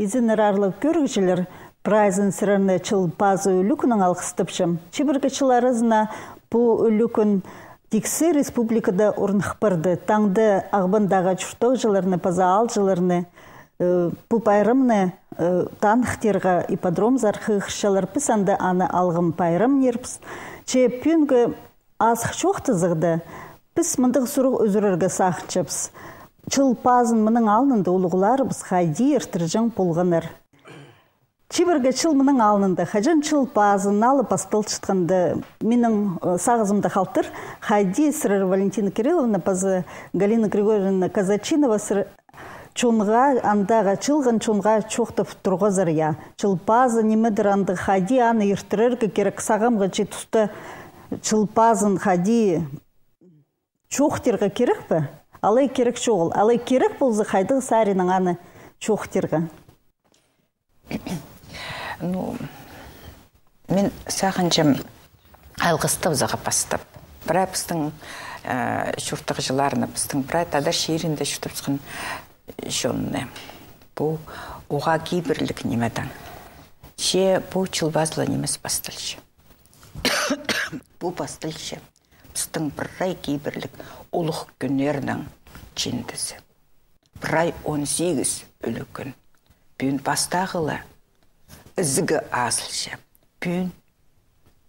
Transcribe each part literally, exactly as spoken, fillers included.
Изеннер, аарлығ кӧрігҷілер, прайзын сірерні Чыл пазы ӱлӱкӱннең алғыстапчам. Чибіргі чыл аразына пу ӱлӱкӱн тиксі республикада орных парды. Таңда Ағбандағы чуртағҷыларны паза аалҷыларны, э, пу пайрамны, э, таныхтирға ипподромзар хығырчалар. Піс анда аны Алғым пайрам нирбіс. Че пӱӱнгі азых чоохтазығда, піс мындағ сурығ ӱзӱрерге сағынчабыс. Чыл пазын мының алнында улуғларыбыс хайди иртірҷең полғаннар? Чибіргі чыл мының алнында, хаҷан Чыл пазы налы пасталчатханда, минің, э, сағызымда халтыр, хайди сірер, Валентина Кирилловна, паза Галина Григорьевна Казачинова, сірер чонға, андағы чыылған чонға чоохтап турғазар, я. Чыл пазы нимедір, андағ хайди аны иртірерге кирек, сағамғы чи туста Чыл пазын хайди чоохтирға кирек пе? Алай кирек чоғыл. Алай кирек полза, хайдағ саринаң аны чоохтирға? Ну, мин сағынчам, алғыстабызарға пастап. Прай пістің, э, чуртағҷыларны, пістің прай тадар чирінде чуртапчатхан чонны. Пу уғаа кибірліг нимедең. Че пу Чыл пазы ла нимес пасталча. Пу пасталча пістің прай кибірліг улуғ кӱннернің чиндізі. Прай он сигіс ӱлӱкӱн. Пӱӱн пастағы ла ізігі азылча. Пӱӱн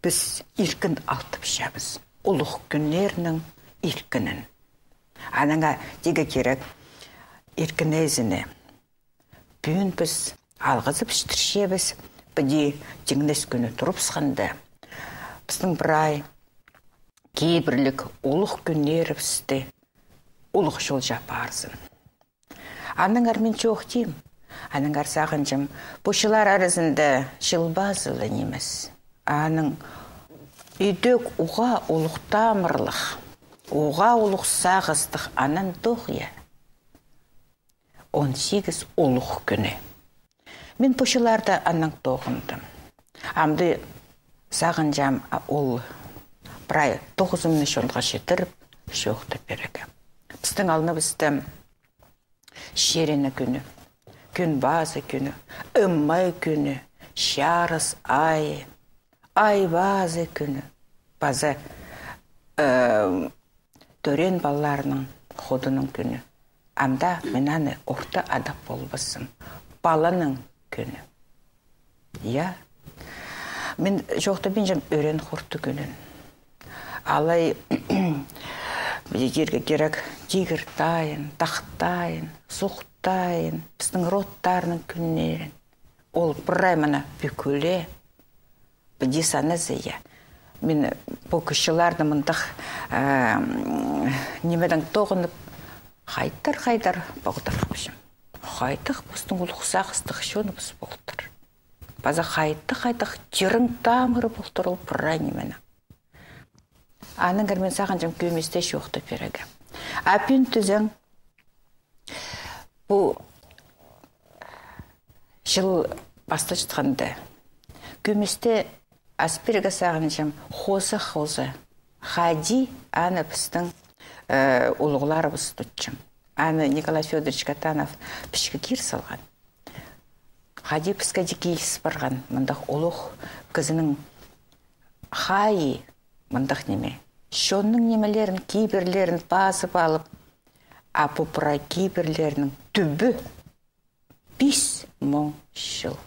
піс иркін алтапчабыс. Улуғ кӱннернің иркінін. Анаңар тигі кирек иркін ээзіне. Пӱӱн піс алғызып читірчебіс, піди тиңнес кӱні турыбысханда. Пістің прай кибірліг улуғ кӱннерібісті улуғ чолҷа парзын. Аннаңар мин чоохтим, аннаңар сағынчам, пу чыллар аразында Чыл пазы ла нимес. Аның идӧк уғаа улуғ тамырлығ, уғаа улуғ сағыстығ аннаң тоғ, я. Он сигіс улуғ кӱні. Мин пу чылларда аннаң тоғындым. Амды сағынчам, а, ол прай тоғызымны чонға читіріп, чоохтап пирерге. Пістің алныбыста Чиріні кӱні, Кӱн пазы кӱні, Ымай кӱні, Чарыс ай, Ай пазы кӱні, паза, э, тӧреен палаларның ходының кӱні. Анда мин аны орта адап полбаспын. Паланың кӱні. Я. Мин чоохтабинчам Ӧрен хурты кӱнін. Алай, тирге кирек, Тигір тайын, Тахтайын, Сухтайын, пістің родтарның кӱннерін. Ол прай мына пӱкӱле, піди саназа, я. Мин пу кӱс чылларны мындағ, э, м, нимедең тоғынып, хайдар-хайдар поғдархапчам. Хайдағ пістің улуғ сағыстығ чоныбыс полтыр. Паза хайдағ-хайдағ тирең тамыры полтыр ол прай нименің. Аннаңар мин сағынчам кӧместе чоохтап пирерге. А пӱӱн тізең, пу чыл пасталчатханда, кӧместе ас пирерге сағынчам хоза-хоза, хайди аны пістің, э, улуғларыбыс тутчаң. Аны Николай Фёдорович Катанов пічікке кир салған. Хайди піске дее киліс парған мындағ улуғ кізінің хайи мындағ ниме. Чонның нимелерін, кибірлерін пазып алып, а пу прай кибірлернің тӱбі пис муң чыл.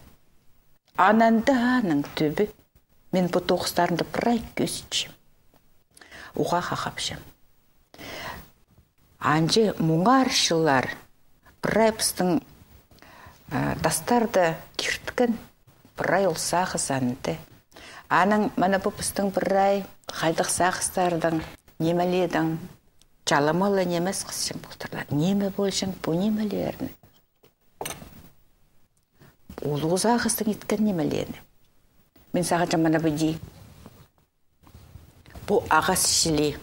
Аннаң даа аның тӱбі. Мин пу тоғыстарымда прай кӧзітчем. Уғаа хахапчам. Анҷа муңар чыллар прай пістің, э, тастарда кирткен прай ол сағыс анда. Анаң мына пу пістің прай хайдағ сағыстардаң, нимелердең чаламалы нимес хысчаң полтырлар. Ниме полҷаң пу нимелерні? Улуғ сағыстаң иткен нимелерні. Мин сағынчам, мына піди. Пу ағас чіли.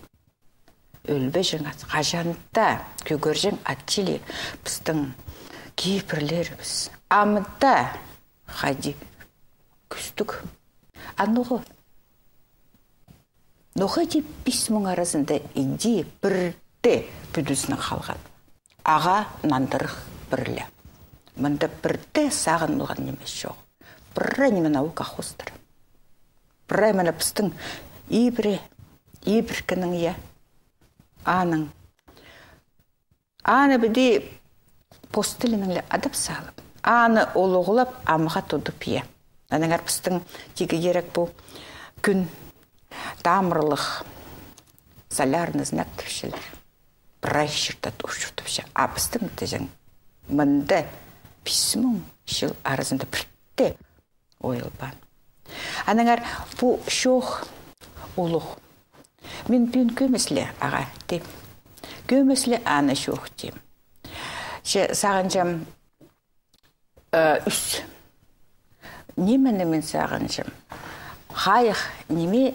Ӧлбеҷең ат, хаҷан даа кӧгерҷең ат чіли. Пістің кибірлерібіс. Амды хайди кӱстіг. А ноға? Ноға тіп пис муң аразында иди пірде пӱдізінең халған. Ағаа нандырығ пір ле. Мында пірдее сағын полған ниме чох. Прай ниме наука хоостыра. Прай мына пістің ибіре, ибіркінің, я. Аның. Аны піди пос тілінең ле адап салып, аны улуғлап, амға тудып, я. Аннаңар пістің тигі керек пу кӱн, тамырлығ, солярный знак тіпчелер. Прай чирде учур тіпче. А пістің тізең мында пис муң чыл аразында пірдее ойылбаан. Аннаңар пу чоох улуғ. Мин пӱӱн кӧмес ле ағаа тим. Кӧмес ле аны чоох тим. Че сағынчам, э, ӱс. Нимені мин сағынчам? Хайых ниме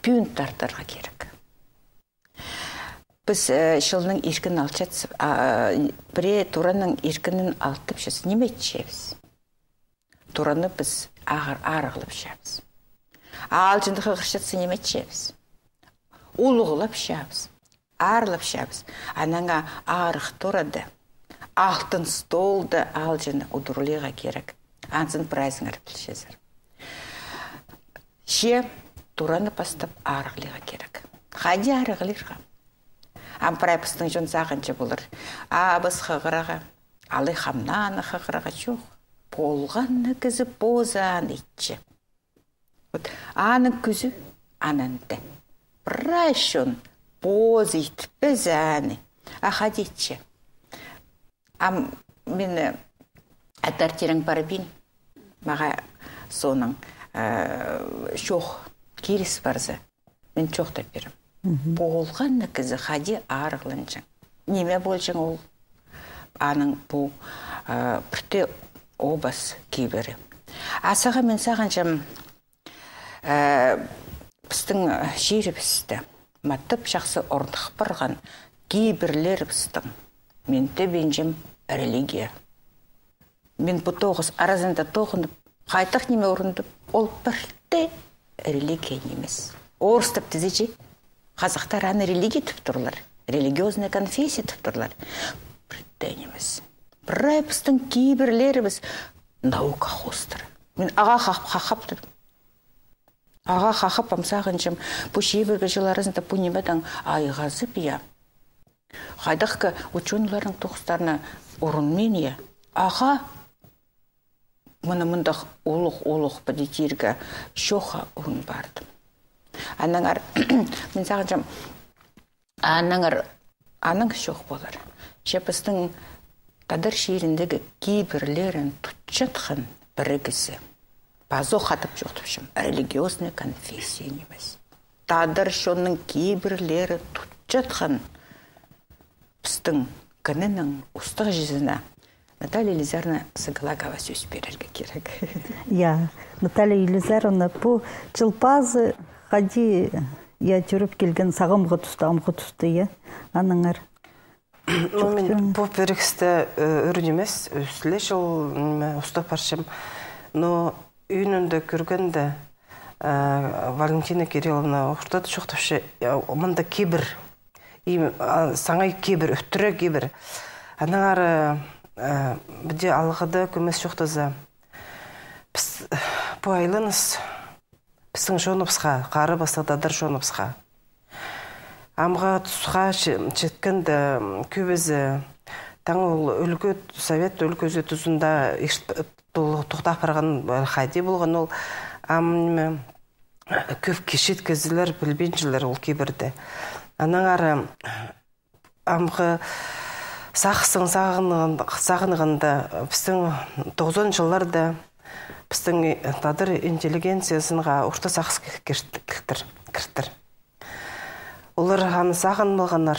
пӱӱн тартарға керек. Піс, э, чылның иркін алчатсып, а, пірее тураның иркінін алтыпчабыс. Ниме итчебіс? Тураны піс ағыр-, арығлапчабыс. Аалҷыны хығырчатса, ниме итчебіс? Улуғлапчабыс, аарлапчабыс. Аннаңар арығ турада, алтын столда аалҷыны удурлирға керек. Анзын прайзыңар пілчезер. Че тураны пастап арығлирға керек. Хайди арығлирға? Ам прай пістің чон сағынча полар. Абыс хығырарға, алай хамнааны хығырарға чох. Полған на кізі позы аны итче. Вот, аның кӱзі ананда. Прай чон позы итпес аны. А хайди итче? Ам мин, э, Аттар тирең парбин, мағаа соонаң, э, чоох киліс парза, мин чоохтап пирем. Полған на кізі хайди арығланҷаң. Ниме полҷаң ол? Аның пу, э, пірдее обас кибірі. А саға мин сағынчам, э, пістің чирібісте матап чахсы орных парған кибірлерібістің, мин тіпчем, религия. Мин пу тоғыс аразында тоғынып, хайдағ ниме орындап, ол пірдее религия нимес. Орыстап тізе чи, хазахтар аны религия тіп турлар, религиозная конфессия тіп турлар. Пірдее нимес. Прай пістің кибірлерібіс наука хоостыра. Мин ағаа хах-, хахап турым. Ағаа хахап, ам сағынчам, пу чибіргі чыл аразында пу нимедең айғазып, я. Хайдағ-да учёныйларның тоғыстарына урунмин, я. Ағаа мына мындағ улуғ-улуғ піди тирге чоохха ӱн пардым. Аннаңар, мин сағынчам, аннаңар, аның чоох полар. Че пістің тадар чиріндегі кибірлерін тутчатхан пірігізі. Пазох адап чоохтапчам, религиозная конфессия нимес. Тадар чонның кибірлері тутчатхан пістің кінінің устағҷызына Наталья Елизаровна Сагалакова сӧс пирерге кирек. Я, Наталья Елизаровна, пу чыл пазы хайди, я, тӧріп килген сағамғы туста, амғы туста, я, аннаңар. Ну, мин пу пірігісті, э, ӱр нимес, ӱс ле чыл, ниме, устап парчам. Но ӱнінде кӧргенде, э, Валентина Кирилловна ортада чоохтапча, э, мында кибір. И, а, саңай кибір, ӧтіре кибір. Аннаңар, э, піди алғыда кӧмес чоохтаза. Піс, пу айланыс пістің чоныбысха, хара пастығ тадар чоныбысха. Амғы тусха че-, читкенде, м, кӧбізі, таң ол ӱлгӱ, совет ӱлгӱзі тузында ирт-, тол-, тохтап парған, э, хайди полған ол, ам, ниме, кӧп кічіг кізілер пілбинчелер ол кибірді. Аннаңар, амғы сағыстың сағынған-, сағынғанда, пістің тоғызон чылларда пістің, э, тадар интеллигенциязынға орта сағыс кір-, кірт-, кіртір, кіртір. Олар аны сағынмағаннар.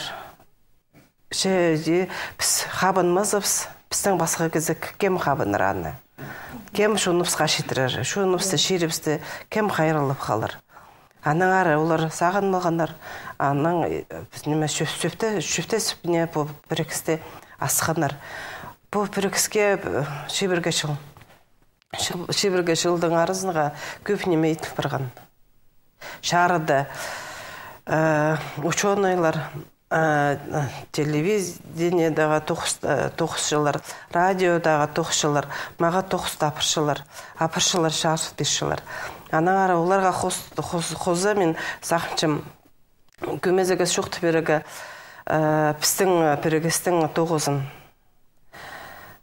Че, че, піс хабынмазыбыс, пістің пасха кізі к-, кем хабынар аны? Кем чоныбысха читірер? Чоныбысты, чирібісті кем хайраллап халар? Аннаңар олар сағынмағаннар, анаң, э, піс, ниме, чӧп-, чӧпте-, чӧптезіп, ниме, пу пірігісті асханнар. Пу пірігіске, э, чибіргі чыл. Чыл-, чибіргі чылдың аразынға кӧп ниме итіп парған. Чарыда, э, учёныйлар, э, телевидениедегі тоғыс-, э, тоғысчылар, радиодағы тоғысчылар, мағаа тоғыс апарчалар, апарчалар, чарыс пирчелер. Анаң ары оларға хос-, хос-, хоза мин сағынчам, кӧмезіг ис чоохтап пирерге, э, пістің, э, пірігістің тоғызын.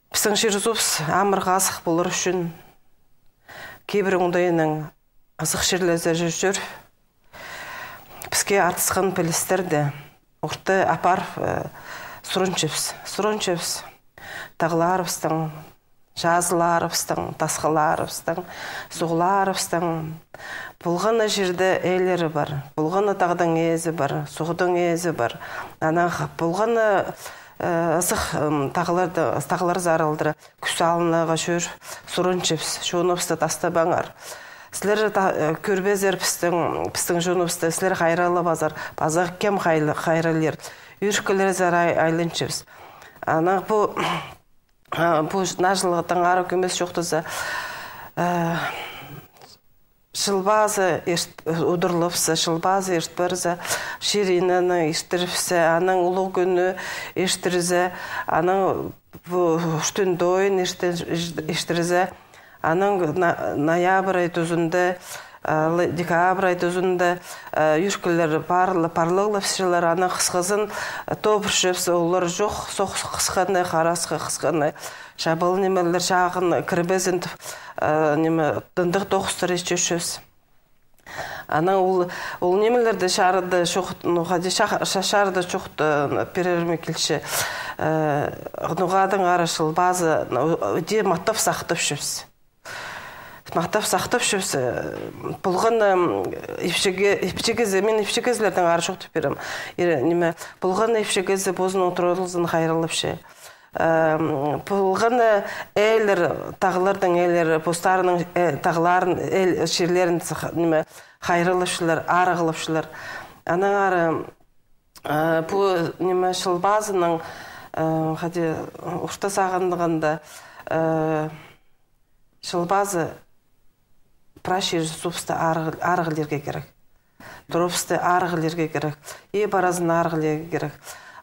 Пістің чир-суубыс амыр-хазых полар ӱчӱн, кибір оңдайынаң ызых чирлерзер чӧр, піске артысхан пілістерні орта апарып, э, сурынчабыс, сурынчабыс. Тағларыбыстың, чазыларыбыстың, тасхыларыбыстың, суғларыбыстың. Полған на чирде ээлері пар, полған на тағдың ээзі пар, суғдың ээзі пар. Анаң полған на, э, ызых, м, тағларда, тағлар сарылдыра кӱс алынарға чӧр, сурынчабыс, чоныбысты тастабаңар. Сірер та-, э, кӧрбезер пістің, пістің чоныбысты, сірер хайраллабазар, паза кем хайлы-, хайраллир. Ӧркілерзер ай-, айланчабыс. Анаң пу, а, пу наа чылдың ары кӧмес чоохтаза, э, Чыл пазы ирт-, удурлапса, чыл пазы ирт парза, чир-инені иртіріпсе, анаң улуғ кӱні иртірзе, анаң пу Ӱстӱн тойын иртір-, ирт-, иртірзе, анаң на-, ноябрь ай тузында, а, лы-, декабрь ай тузында, а, ӧркілер парлы-, парлығлапчалар, анаң хысхазын, а, тобырчапса, олар чох, сох хысханы, харасхы хысханы. Чабал нимелер чағын кірбезін тіп, э, ниме, тындығ тоғыстар итчебіс. Анаң ол, ол нимелерді чарыда чоохт-, ну, хайди ча-, ча-, чарыда чоохтап пирерім килче. Э, ноға-даа ары чыл пазы, ну, иди маттап сахтапчабыс. Маттап сахтапчабыс, э, полған, м, ипчі ке-, ипчі кізі, мин ипчі кізілердең ары чоохтап пирем. Ире, ниме, полған ипчі кізі позының туралызын хайраллапча. Эм, полған, э, ээлер, тағларның ээлері, постарының, э, тағларын, эл, чирлерін сых-, ниме, хайраллапчалар, арығлапчалар. Анаң ары, э, пу, ниме, чыл пазының, э, хайди, орта сағынғанда, э, чыл пазы прай чир-суубысты арығ-, арығлирға кирек. Турабысты арығлирға кирек. Иб аразын арығлирға кирек.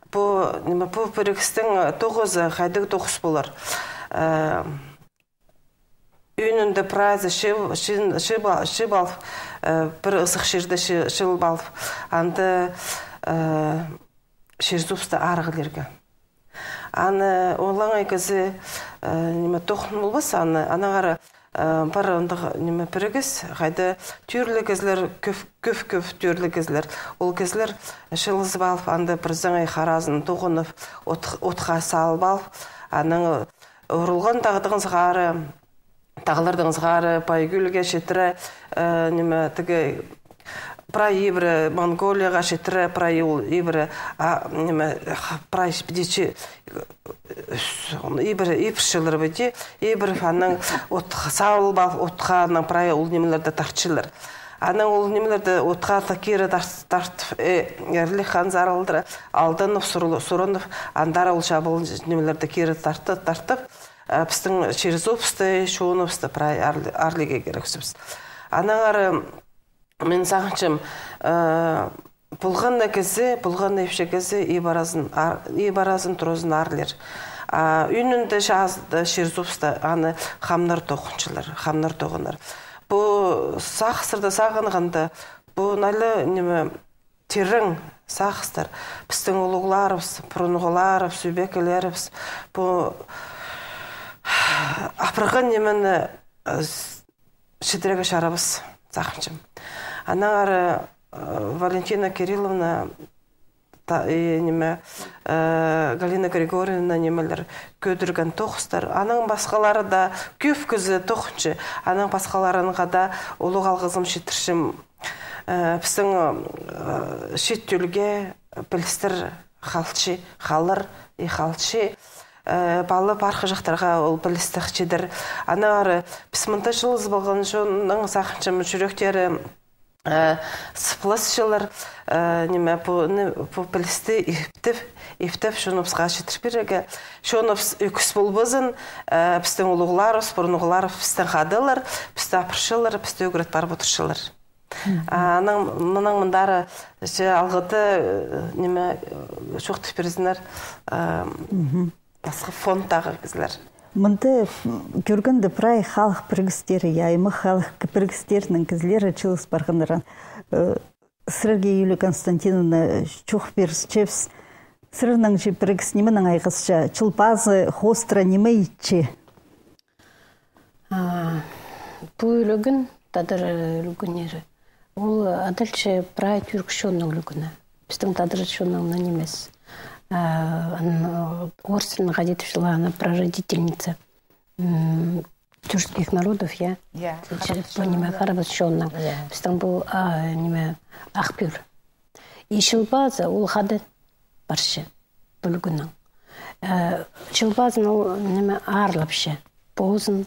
Пу, ниме, пу пірігістің тоғызы хайдағ тоғыс полар. Э, ӱнінде прайзы чып, чын-, чып а-, чып алып, э, пір ызых чирде чы-, чылып алып, анда, э, чир-суубысты арығлирға. Аны олаңай кізі, э, ниме, тоғын полбас, аны, анаң ары, э, пар андағ, ниме, пірігіс, хайда тӧӧрліг кізілер, кӧп, кӧп, кӧп тӧӧрліг кізілер. Ол кізілер чылызып алып, анда пір саңай харазын тоғынып, от-, отха салып алып, анаң урылған тағдың сығара, тағларның сығара, Пайгӱлге читіре, э, ниме, тігі, прай ибіре Монголияға читіре, прай ол ибіре, а, ниме, х-, прай піди чи-, ибіре, ибірчелер піди, ибіре анаң от салып алып, отха анаң прай ол нимелерді тартчалар. Анаң ол нимелерді отха та кире тарт-, тартып, э, Эрлік хан сарылдыра, алданып, сурыл-, сурынып, андар ол чабыл нимелерді кире тартып, тартып, э, пістің чир-суубысты, чоныбысты прай арли-, арығлирға кирекпіс. Анаң ары, мин сағынчам, э, полған на кізі, полған на ипчі кізі иб аразын, ар-, иб аразын, туразын арығлир. А ӱнінде чазыда чир-суубысты аны хамнар тоғынчалар, хамнар тоғынар. Пу сағыстарда сағынғанда, пу наа ла, ниме, тирең сағыстар. Пістің улуғларыбыс, пурунғыларыбыс, ӧбекелерібіс, пу апарған нимені, э, с-, читірерге чарабас, сағынчам. Анаң ары, э, Валентина Кирилловна, та-, и, ниме, э, Галина Григорьевна нимелер кӧдірген тоғыстар. Анаң пасхалары даа кӧп кізі тоғынча. Анаң пасхаларынға даа улуғ алғызым читірчем. Э, пістің, э, чиит тӧлге пілістер халча, халар и халча. Э, пала пархы чахтарға ол пілістер чидер. Анаң ары піс мында чылызып алған чонның, сағынчам, чӱректері, э, сыпласчалар, э, ниме, пу, ни, пу пілісті иптеп, иптеп чоныбысха читір пирерге. Чоныбыс ӧкіс полбазын, э, пістің улуғларыбыс, пурунғыларыбыс пістең хадалар, пісті апарчалар, пісті ӱгрет парып одырчалар. А, анаң, мынаң мындар, че алғыда, э, ниме, э, чоохтап пирзіннер, э, пасха фондтағы кізілер. Мында, м, кӧргенде прай халых пірігістері, я, аймах халых пірігістерінің кізілері чыылыс парғаннар. Э, сірерге, Юлия Константиновна, чоох пирчебіс. Сірернің чи пірігіс нименең айғасча, Чыл пазы хоостыра ниме итче? А, пу ӱлӱкӱн, тадар ӱлӱкӱннері, ол адалча прай тӱрк чонның ӱлӱкӱні. Пістің тадар чонның нимес. А, ан-, орыс тілінең хайди тіпчелер, ана прародительница, м, тюркских народов, я? Я, че-, харабас пу ниме, чонның, я. Харабас чонның. Я. Пістің пу, а, ниме, ах пӱӱр. И Чыл пазы ол хада парча пу ӱлӱкӱннең. Э, Чыл пазын ол, ниме, аарлапча. Позын,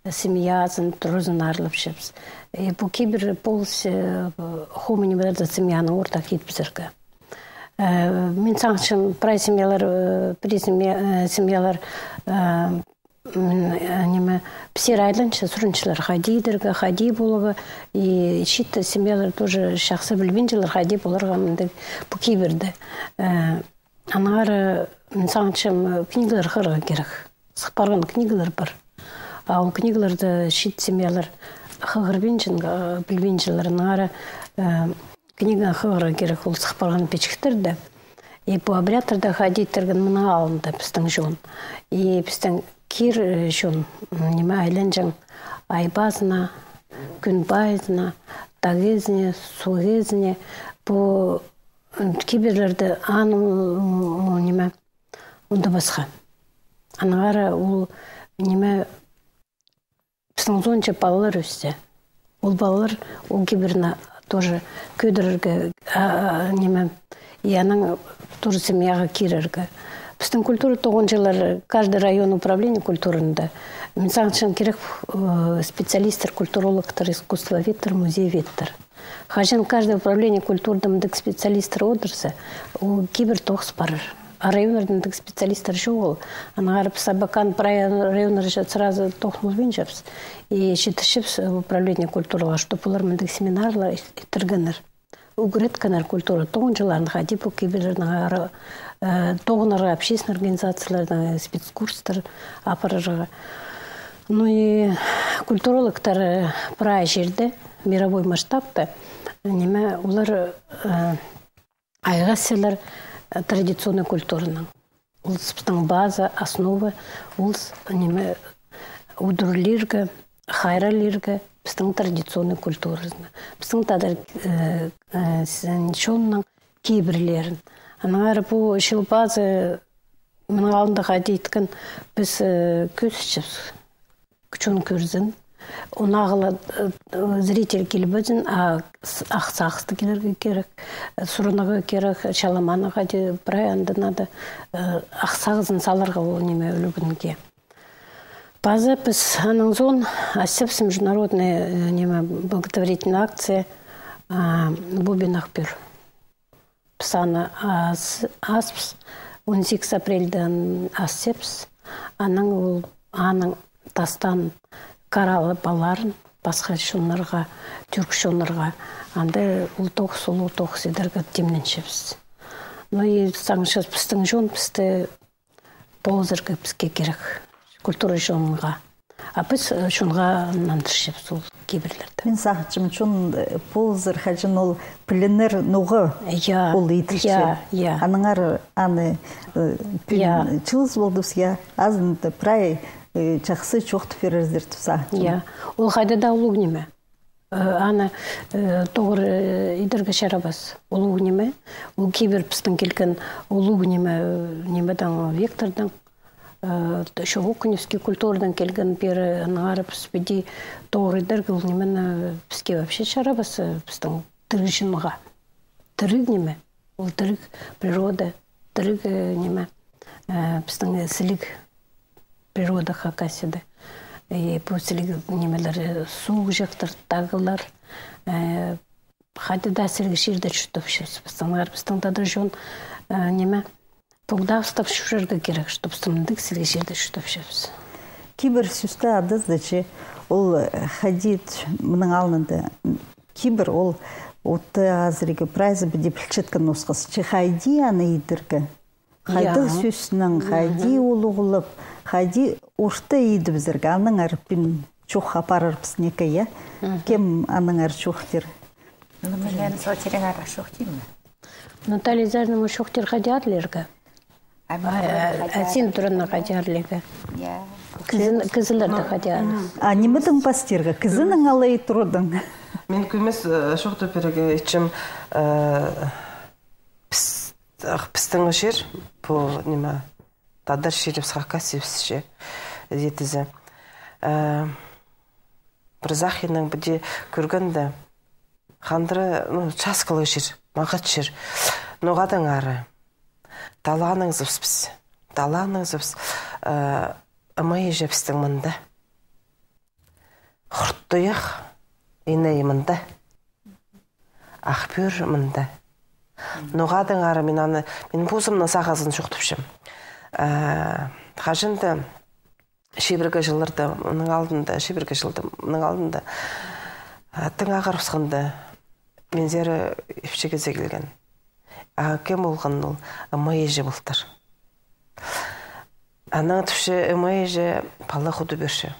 э, семьязын, туразын аарлапчабыс. Э, пу кибір полыс, э, хомай нимелерді семьяның ортах ит пирерге. Э, мин сағынчам, прай семьялар, э, пірее семья-, э, семьялар, э, м, э, ниме, пісер айланча сурынчалар, хайди идерге, хайди поларға, и чиит семьялар тоже чахсы пілбинчелер, хайди поларға мындағ пу кибірді. Э, аннаңар, э, мин сағынчам, э, книгалар хығырарға кирек. Сых парған книгалар пар. А ол книгаларны чиит семьялар хығырбинча, э, пілбинчелер. Аннаңар, э, книга хығырарға кирек ол сых парған пічіктерді. И пу обрядтарда хайди иттірген мының алнында пістің чон. И пістің кир, э, чон, м, ниме, айланҷаң ай пазына, кӱн пайызына, тағ ізіне, суғ ізіне, пу, м, кибірлерді аны, м, ниме, ундубасха. Аннаңар ол, ниме, пістің узунҷа палалар ӧссе. Ол палалар ол кибірні тоже кӧдірерге, а, а, ниме, и анаң тоже семьяға кирерге. Пістің культура тоғынҷылар, каждый район управление культурында. Мин сағынчам, кирек, э, специалисттер, культурологтар, искусствоведтер, музееведтер. Хаҷан каждый управление культурада мындағ специалисттер одырза, ол кибір тоғыс парар. А районнарда мындағ специалисттер чоғыл. Аннаңар піс Абакан прай районнарда сразу тоғын полбинчабыс. И читірчебіс управление культуралар, чтоб олар мындағ семинарлар ит-, иттіргеннер. Ӱгреткеннер культура тоғынҷыларын, хайди пу кибірлернең ары, э, тоғынарға, общественный организацияларның спецкурстар апарарға. Ну и культурологтар, э, прай чирде, мировой масштабта, ниме, олар, э, айғасчалар, э, традиционный культуранаң. Ол пістің база, основа, ол, ниме, удурлирға, хайраллирға пістің традиционный культуразыны. Пістің тадар, э, э, с-, чонның кибірлерін. Аннаңар пу Чыл пазы, мының алнында хайди иткен, піс, э, кӧзітчебіс. Чон кӧрзін. Онағыла, э, зритель килбезін, а с-, ах сағысты килерге кирек, э, сурынарға кирек, чаламанға даа, прай анда надо, э, ах сағызын саларға ол ниме ӱлӱкӱнге. Паза піс анаң соон асчабыс международный, э, ниме, благотворительный акция, а, «Бубен ах пӱӱр». Піс аны ас-, аспыс, он сигіс апрельде асчабыс. Анаң ол, аның тастаан караллы палаларын пасха чоннарға, тӱрк чоннарға, анда ол тоғыс, улуғ тоғыс идерге тимненчебіс. Ну и сағынчабыс, пістің чон пісті полызарға піске кирек, культура чонға. А піс, э, чонға нандырчабыс ол кибірлерді. Мин сағынчам, чон, э, полызар, хаҷан ол пілінер ноға, я, ол иділче. Я, я. Аннаңар аны, э, пӱӱн, я, чылыс полдыбыс, я, азында прай, э, чахсы чоохтап пирерзер тіп сағынчам. Я. Ол хайда даа улуғ ниме. Э, аны, э, тоғыр, э, идерге чарабас. Улуғ ниме, ол кибір пістің килген улуғ ниме, э, нимедең, вектордаң, э, ещё окуневский культурадаң килген пеер, аннаңар піс піди тоғыр идерге ол нимені, э, піске вообще чарабас, э, пістің тіріг чонға. Тіріг ниме. Ол тіріг природа, тіріг, э, ниме, э, пістің, э, сіліг природа Хакасияда. И пу сіліг нимелер, э, суғҷахтар, тағлар, э, хайда даа сіліг чирде чуртапчабыс. Пістің, пістің тадар чон, э, ниме, поғдабыстап чӧрерге кирек, чтоб пістің мындағ сіліг чирде чуртапчабыс. Кибір сӧсті адазы че, ол, э, хайди, мының алнында, м, Кибір ол отты азырғы прайзы піди пілчеткен осхас. Че хайди аны идерге. Хайдағ сӧснең, хайди улуғлап, хайди орта идібізерге. Аннаңар пин чох апарарбыс неке, я? Кем аннаңар чох тир? Ну, мин сотиреңар чох тиме. Наталья Зарина, чох тир хайди арлирға? А син турына хайди арлирға? Я. Кізілерді хайди арлирға? А нимедең пастирға? Кізінің алай турыдың. Мин кӧмес, э, чох тіп пирерге итчем, э, піс-, ах, пістің чир, пу, ниме, тадар чирібіс, Хакасиябысча, идезе. Э, пір сағыннаң піди кӧргенде, хандыра, ну, часкалығ чир, маңат чир. Ноға-даа ары. Талааннаң сыбыс піс. Талааннаң сыбыс, э, ымай іҷебістің мында. Хуртуях иней мында. Ах пӱӱр мында. Ноға-даа ары мин аны, мин позымның сағызын чоохтапчам. Э, хаҷан-да чибіргі чылларда, мының алнында, чибіргі чылда, мының алнында, а, тың ағырыбысханда, минзер ипчі кізі килген. А кем полған ол? Ымай іҷе полтыр. Анаң тіпче, ымай іҷе пала худып пирче.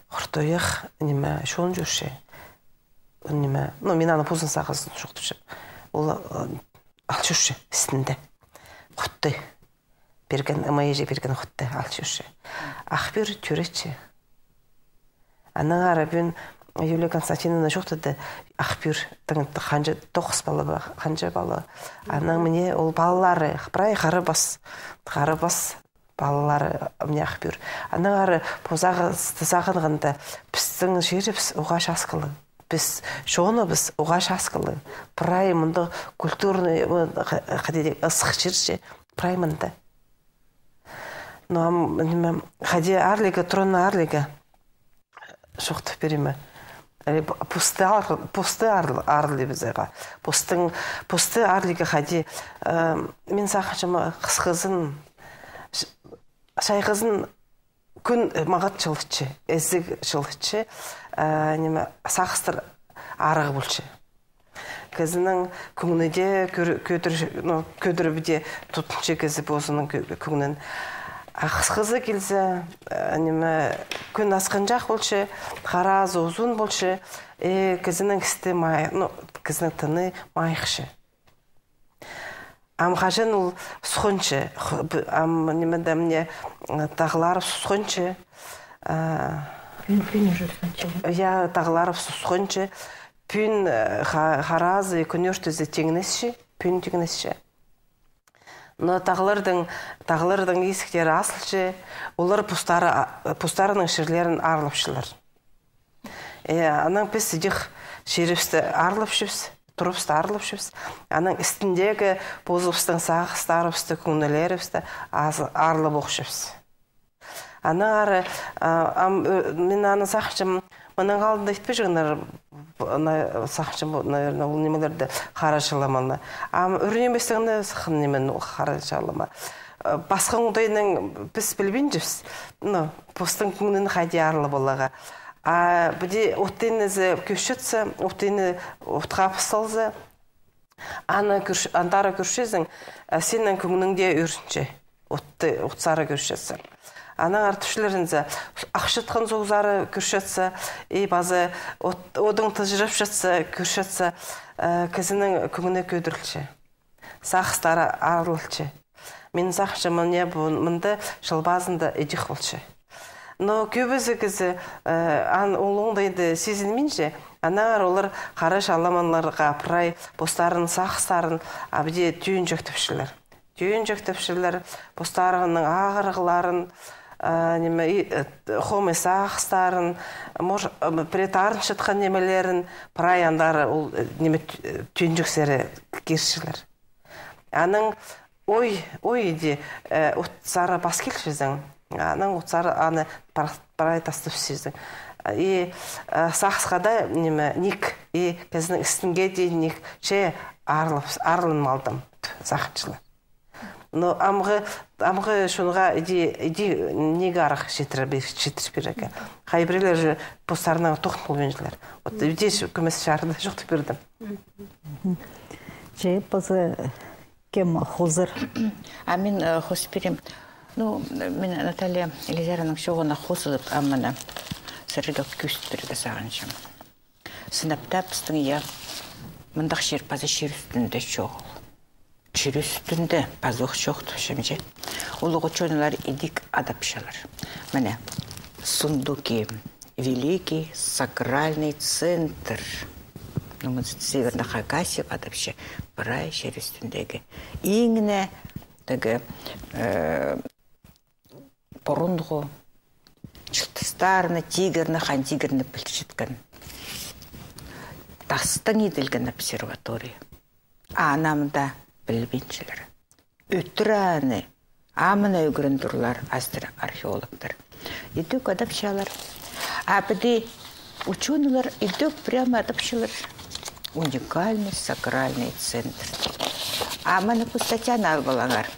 Хуртуях, ниме, чон чӧрче. Ниме, ну, мин аны позым сағызын чоохтапчам. Ол, э, ал чӧрче істінде. Хутты. Пирген, ымай іҷе пирген хутты ал чӧрче. Ах пӱӱр тӧреетче. Анаң ары пӱӱн Юлия Константиновна чоохтады, ах пӱӱр, тың, ханҷа, тоғыс пала ба, ханҷа пала. Анаң міне ол палалары, прай хара пас, хара пас палалары, міне ах пӱӱр. Анаң ары пу сағысты сағынғанда, пістің чирібіс уғаа часкалығ. Піс, чоныбыс уғаа часкалығ. Прай мында культурный, м, х-, хайди, ысых чир чи, прай мында. Ну, ам, ниме, хайди арлирға, турына арлирға. Чоохтап пирем. Э, п-, посты ар-, посты ар-, арлирбызарға. Постың, посты арлирға хайди, э, мин сағынчам, хысхызын, ч-, чайғызын кӱн, э, маңат чылытча, ізіг чылытча, э, ниме, сағыстар арығ полча. Кізінің кӧңні дее кӧдір-, кӧдір-, ну, кӧдіріп дее тутча кізі позының кӧ-, кӧңнін. А хысхызы килзе, э, ниме, кӱн асхынҷах полча, харазы узун полча, э, кізінің істі май-, ну, кізінің тыны майыхча. Ам хаҷан ол сухынча, ху-, б-, ам ниме-де міне, м, тағлар сухынча, а, пӱӱн, пӱӱн уже сухынча. Я, тағлар сухынча, пӱӱн, э, ха-, харазы, кӱн ӧртізі тиңнесче, пӱӱн тиңнесче. Но тағларның, тағларның изіктері азылча, олар постары, а, постарының чирлерін аарлапчалар. Э, анаң піс ідӧк чирібісті аарлапчабыс, турыбысты аарлапчабыс. Анаң істіндегі позыбыстың сағыстарыбысты, кӧңнілерібісті азы-, аарлап охчабыс. Анаң ары, а, ам, ӧ, мин аны сағынчам, мының алнында итпеҷеңнер, ана, сағынчам, наверное, ол нимелерді, хара чаламаны. Ам ӱр нимезінең сыххан ниме ол хара чалама. Э, пасха оңдайнаң піс пілбинчебіс, ну, постың кӧңнін хайди аарлап аларға. А піди оттыны зе кӧсчетсе, оттыны отха пыс салза, аны кӧрч-, андары кӧрчезің, а, синің кӧңнің дее ӧрінче. Отты, от сары кӧрчетсе. Анаң артыпчалар зе, ахчатхан суғ сары кӧрчетсе, и паза от-, одың тыҷырапчатса, кӧрчетсе, э, кізінің кӧңні кӧдірілче. Сағыстары аарлалча. Мин сағынчам, мына пу, мында Чыл пазында ідӧк полча. Но кӧбізі кізі, э, ан улуғ даа иді сизінминче, аннаңар олар хара чаламаннарға прай постарының сағыстарын абди тӧӧнҷектепчелер. Тӧӧнҷектепчелер, постарының ағырығларын, э, ниме, и, э, хомай сағыстарын, мож-, э, пірее тарынчатхан нимелерін, прай андары ол, э, ниме, тӧ-, э, тӧӧнҷексер кирчелер. Анаң ой, ой иди, э, от сары пас килчезің. Анаң от сары аны пар-, прай тастапчазың. И, э, сағысха даа, ниме, ниик, и кізінің істінге дее ниик, че аарлап-, аарланып алдым, сағынчалар. Но амғы, амғы чонға иди, иди ниме арах читіре пир-, читіріп пирерге. Хай піреелер же постарының тоғын полбинчалар. Вот, иди кӧмес чарыда чоохтап пирдім. Че паза кем хозыр? А мин, э, хозып пирем. Ну, мин Наталья Елизаровнаның чооғына хозылып, ам мына сірерге кӧзіт пирерге сағынчам. Сынап таа, пістің, я, мындағ чир паза чир ӱстӱнде чоғыл. Чир ӱстӱнде пазох чоохтапчам че. Улуғ учёныйлар идӧк адапчалар. Мына, Сундуки, великий сакральный центр. Ну, мына Северная Хакасия адапча, прай чир ӱстӱндегі. Иң не, тігі, э, пурунғы чылтыстарны, тигірні, хан тигірні пілчеткен. Тастаң иділген обсерватория. А аны амды пілбинчелер. Ӧтіре аны, амды ӱгрен турлар астра археологтар. Идӧк адапчалар. А піди учёныйлар идӧк прямо адапчалар. Уникальный сакральный центр. А мына пу статьяны алып алыңар.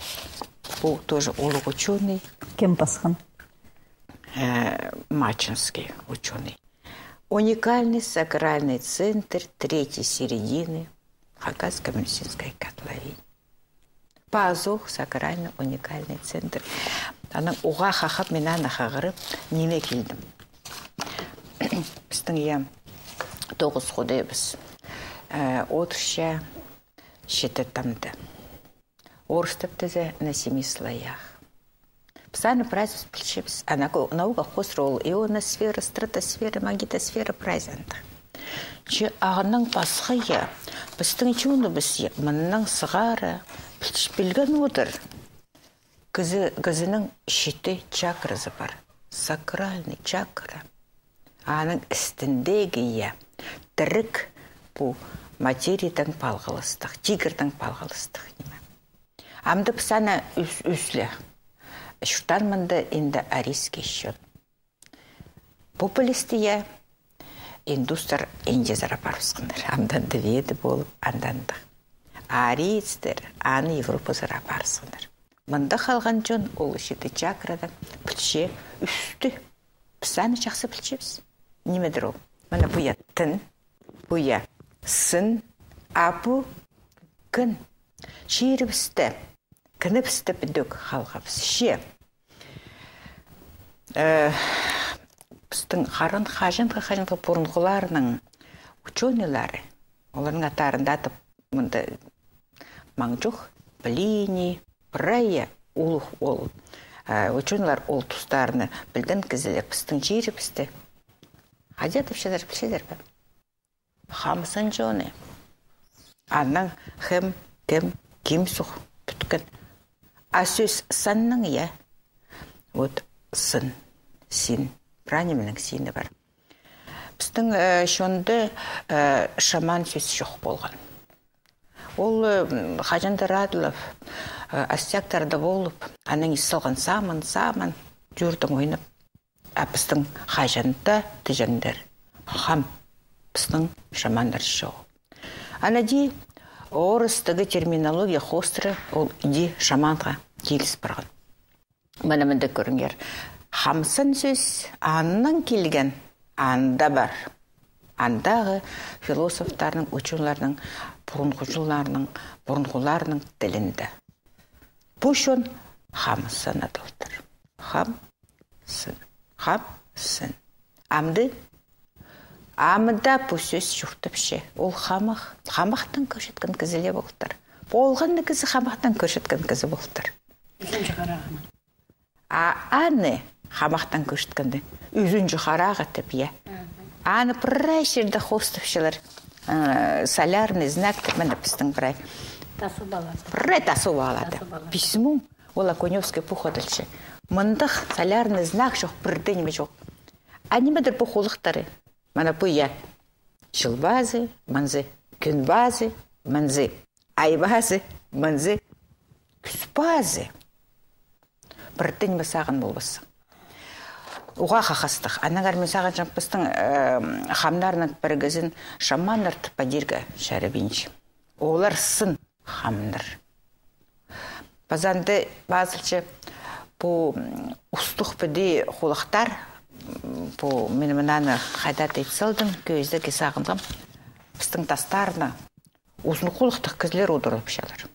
Пу тоже улуғ учёный. Кем пасхан? Э, мачинский учёный. Уникальный сакральный центр третьей середины Хакасской Минусинской котловины. Пазох сакральный уникальный центр. Анаң уғаа хахап, мин аны хығырып, ниме килдім. Пістің, я, тоғыс худайыбыс. Э, одырча читі тамды. Орыстап тізе на семи слоях. Піс аны прайзыбыс пілчебіс. А нау-, наука хоостыра ол ионосфера, стратосфера, магнитосфера, прайзы андағ. Че аның пасха, я, пістің чоныбыс, я, мыннаң сығара пілч-, пілген одыр. Кізі, кізінің читі чакразы пар. Сакральный чакра. Аның істіндегі, я, тіріг пу материядаң палғалыстығ, тигірдең палғалыстығ ниме. Амды піс аны ӱс-, ӱсле. Чуртаан мында индоарийский чон. Пу пілісті, я, индустар Индиязар апарыбысханнар. Амды анда веды полып, анда андағ. Арийцтер аны Европазар апарыбысханнар. Мында халған чон ол читі чакрадаң пілче ӱстӱ. Піс аны чахсы пілчебіс. Нимедір ол? Мына пу, я, тін, пу, я, сын, а пу кін. Чирібісте, кінібісте підӧк халғабыс. Че, э, пістің харан хаҷанғы, хаҷанғы пурунғыларның учёныйлары, оларның аттарын даа атап мында маң чох, Плиний, прай улуғ ол, э, учёныйлар ол тустарны пілген кізілер пістің чирібісте. Хайди адапчалар, пілчезер бе? Хамсын чоны. Анаң хем, кем, ким суғ пӱткен. А сӧс саннаң, я. Вот сын, син. Прай нимелернің сині пар. Пістің, э, чонда, э, шаман сӧс чох полған. Ол, э, м, хаҷандар адалып, э, астяктарда полып, анаң ис салған саман, саман, чӧрдең ойнап. А пістің хаҷан даа тіҷеңнер хам, пістің шаманнар чоғыл. Ана иди орыстағы терминология хоостыра ол иди шаманға киліс парған. Мына мында кӧріңер. Хамсын сӧс аннаң килген, анда пар. Андағы философтарның, учёныйларның, пурунғыларның, пурунғыларның тілінде. Пу чон хамсын адалтыр. Хам, сын. Хам, сын. Амды, амды пу сӧс чуртапча. Ол хамах. Хамахтаң кӧрчеткен кізі ле полтыр. Полған на кізі хамахтаң кӧрчеткен кізі полтыр. Ӱзінҷі харағынаң. А аны хамахтаң кӧрчеткенде, ӱзінҷі харағы тіп, я. Аны прай чирде хоостапчалар. Э, солярный знак тіп, мына пістің прай. Тасуп алады. Прай тасуп алады. Тасуп алады. Письмо, ол Окунёвский пу хатылча. Мындағ солярный знак чох, пір дее ниме чох. А нимедір пу хулахтары? Мына пу, я. Чыл пазы, мынзы, кӱн пазы, мынзы. Ай пазы, мынзы, кӱс пазы. Пір дее ниме сағын полбассың. Уғаа хахастығ. Аннаңар мин сағынчам, пістің, э, хамнарның пірігізін шаманнар тіп адирға чарабинча. Олар сын хамнар. Паза анда пазылча пу, м, устух піди хулахтар, м, пу, мин мынаны хайда-да ит салдым, кӧзідерге сағынғам. Пістің тастарны узын хулахтығ кізілер удурлапчалар.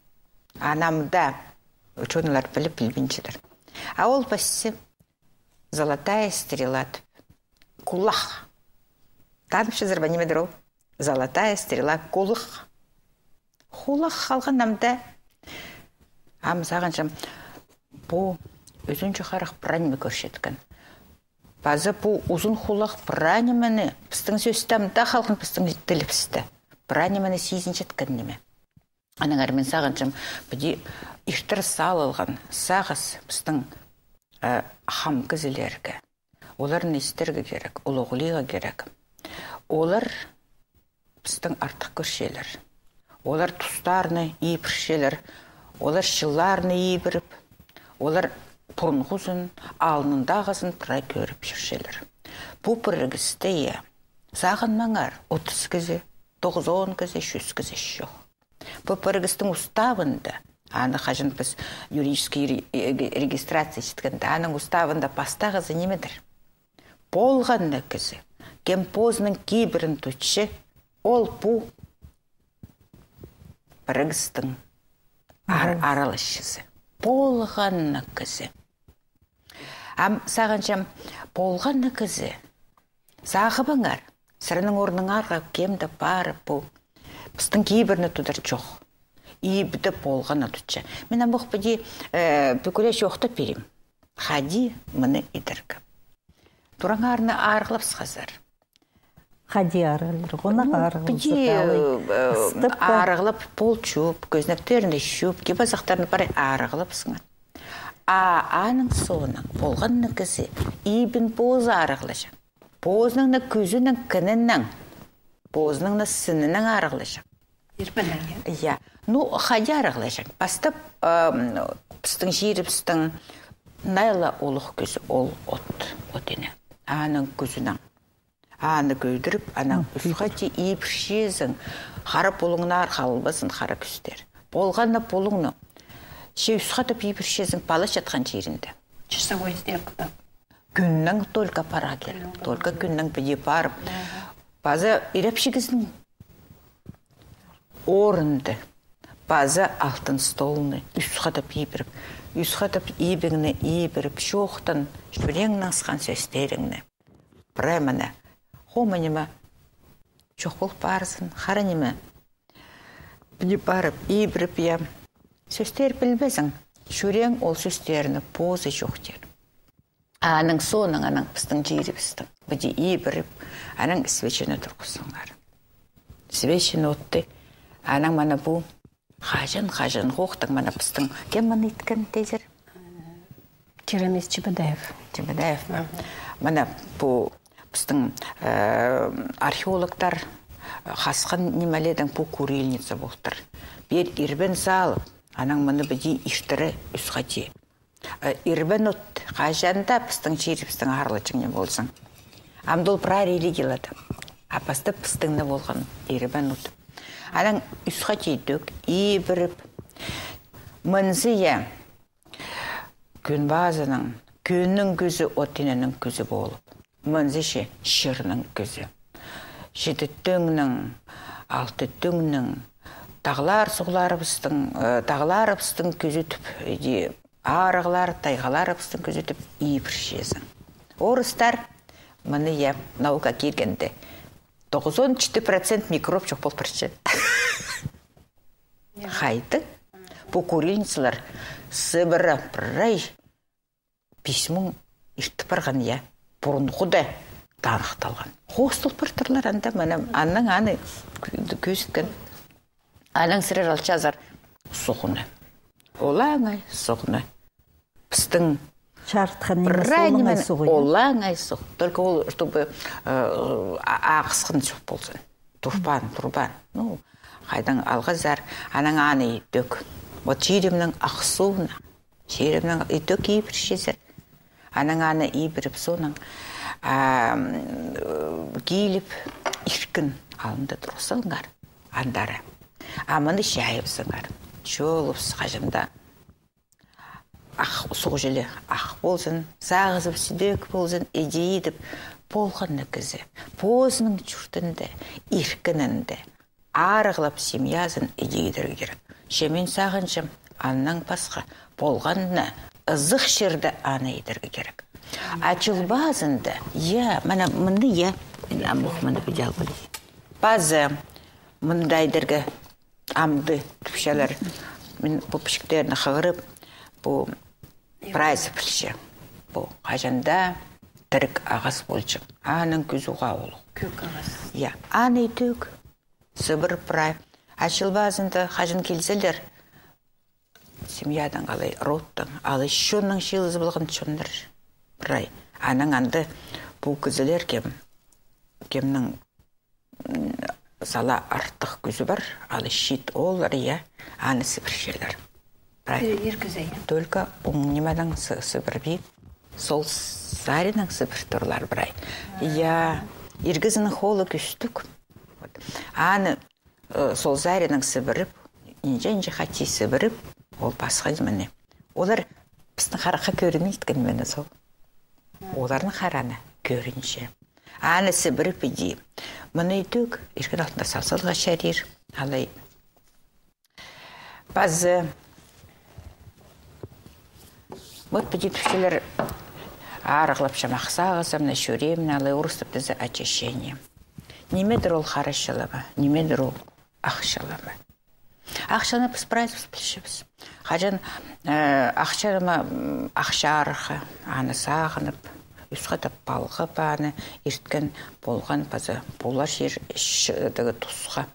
Анамда учёныйлар піліп пілбинчелер. А ол пасча золотая стрела тіп. Кулах. Танып чазар ба, нимедір ол? Золотая стрела, кулах. Хулах халған амда. Ам сағынчам, пу ӱзінҷі харах прай ниме кӧрчеткен. Паза пу узын хулах прай нимені, пістің сӧстемде халған, пістің тілібісте прай нимені сизінчеткен ниме. Аннаңар мин сағынчам, піди иртір салылған сағыс пістің, э, хам кізілерге. Оларны истерге кирек, улуғлирға кирек. Олар пістің артых кӧрчелер. Олар тустарны ибірчелер, олар чылларны ибіріп, олар пурунғызын, алнындағызын прай кӧріп чӧрчелер. Пу пірігісте, я, сағынмаңар, отыс кізі, тоғызон кізі, чӱс кізі чох. Пу пірігістің уставында, аны хаҷан піс юридический ре-, э, регистрация иткенде, аның уставында пастағызы нимедір? Полған на кізі, кем позының кибірін тутча, ол пу пірігістің ар-, араласчызы. Полған на кізі. Ам сағынчам, полған на кізі. Сағыбыңар, сірернің орныңарға кем-де парып пу пістің кибірні тудар чох. Ибде полған на тутча. Мин ам ох піди, э, пӱкӱле чоохтап пирим. Хайди мыны идерге. Тураңарны арығлап сыхазар. Хайди арығлар, ғонағ арығлар. Піди, э, арығлап пол чуп, кӧзенектерні чуп, кип-азахтарны прай арығлап сыңар. А аның соонаң полған на кізі ибін позы арығлаҷаң. Позының на кӱзінең, кінінең, позының на сінінең арығлаҷаң. Ирбіннең, я? Я. Ну, хайди арығлаҷаң. Пастап, ам, пістің чирібістің найла улуғ кӱзі ол от, от ине. Аның кӱзінең. Аны кӧдіріп, анаң ӱс хати ибірчезің. Хара пулуңнар халбазын, хара кӱстер. Полған на пулуңны. Че ӱс хатап ибірчезің пала чатхан чирінде. Часовой стрелка. Кӱннең только пара кир. Только кӱннең піди парып. Паза ирепчігізің орынды. Паза алтын столны ӱс хатап ибіріп. Ӱс хатап ибіңні ибіріп, чоохтан, чӱреңнең сыххан сӧстеріңні. Прай мына, хомай ниме чох пол парзын, хара ниме. Піди парып, ибіріп, я. Сӧстер пілбезің, чӱрең ол сӧстерні позы чоохтир. Аның соонаң, анаң пістің чирібістің. Піди ибіріп, анаң свечаны турғызыңар. Свечаны отты, анаң мына пу Хаҷан, хаҷан хохтың, мына пістің, кем мыны иткен тезер? Черемис Чебодаев. Чебодаев. Ага. Мына пу пістің, э, археологтар хасхан нимеледең пу курильница полтыр. Пеер ирбен салып, анаң мыны піди иртіре ӱс хати. Э, ирбен от, хаҷан даа пістің чирібістің аралачаң ниме ползын. Амды ол прай религияларда. А пастап пістің не полған ирбен от. Анаң ӱс хати тӧк ибіріп, мынзы, я, кӱн пазының, кӱннің кӱзі, от иненің кӱзі полып. Мынзы че чирнің кӱзі. Читі тӧңнің, алты тӧңнің, тағлар суғларыбыстың, э, тағларыбыстың кӱзі тіп, иди, арығлар, тайғаларыбыстың кӱзі тіп ибірчезің. Орыстар, мыны, я, наука киргенде, тоғызон читі процент микроб чох пол парча. Хайдағ? Пу курильницалар Сыбыра прай пис муң иртіп парған, я. Пурунғыда таныхталған. Хоостал партырлар анда, мына, анаң аны кӧзіткен. Анаң сірер алчазар суғны. Олаңай суғны. Пістің чарытхан ниме прай суғ, ниме олаңай суғ, я? Олаңай суғ. Только ол, чтобы, э, а-, ағысхан суғ ползын. Турбаан, турбаан. Ну, хайдаң алғазар, анаң аны идӧк. Вот чирімнің ах суғны. Чирімнің идӧк ибірчезер. Анаң аны ибіріп, соонаң, а, м, киліп, иркін алнында турғызыңар. Андары. А мыны чайыбызыңар. Чолыбыс хаҷан даа суғҷылы ах ползын, сағызы сідӧк ползын, иди идіп, полғанны кізі позының чуртында, иркінінде арығлап, семьязын иди идерге кирек. Че мин сағынчам, аннаң пасха полғанны ызых чирде аны идерге кирек. А Чыл пазында, я, мына мында, я, мин ам ох мында піди алғам. Пазы мында идерге амды тіпчелер. Мин пу пічіктерні хығырып, пу прайзы пілче. Пу хаҷан даа тірік ағас полҷаң. Аның кӱзі уғаа улуғ. Кӧк ағас. Я, аны тӧк сыбыр прай. А Чыл пазында хаҷан килзелер, семьядаң алай, родтаң алай, чонның чыылызы полған чоннар прай. Анаң анда пу кізілер кем, кемнің сала артых кӱзі пар, алай чиит ооллар, я, аны сібірчелер. Прай. Ир кізі, я. Только оң нимедең сыбырбин, сол саринаң сібір турлар прай. Я, ир кізінің холы кӱстіг. Вот. Аны сол саринаң сібіріп, инҷе-инҷе хати сібіріп, ол пасха нимені. Олар пістің харахха кӧрінмейді нимені сол. Оларның хараны кӧрінче. Аны сібіріп иди. Мыны тӧк иркін алтында сал саларға чарир. Алай. Пазы. Вот піди тіпчелер арығлапчам, ах сағызым, мына чӱреем, мына алай орыстап тізе очищение. Нимедір ол хара чылама, нимедір ол ах чылама. Ах чылама піс прайзыбыс пілчебіс. Хаҷан ах чылама, ах чарыхха, аны сағынып, ӱс хатап палғап аны ирткен полған паза полар чир тігі тусха.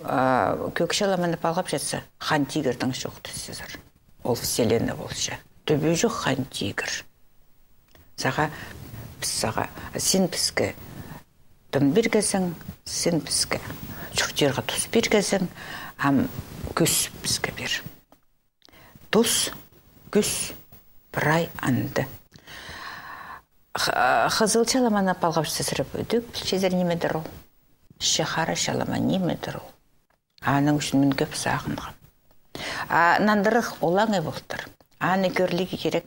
Кӧк чыламаны палғапчатса, Хан Тигірнің чоохтасчазар. Ол вселенная полча. Тӱбі чох Хан Тигір. Саға, піс саға, син піске тын пиргезің, син піске чуртирға тус пиргезің, ам кӱс піске пир. Тус, кӱс, прай анда. Хызыл чыламаны палғапчазар, ӱдӧк пілчезер нимедір ол. Че хара чылама нимедір ол. Аның ӱчӱн мин кӧп сағынғам. А нандырығ олаңай полтыр. Аны кӧрлиге кирек.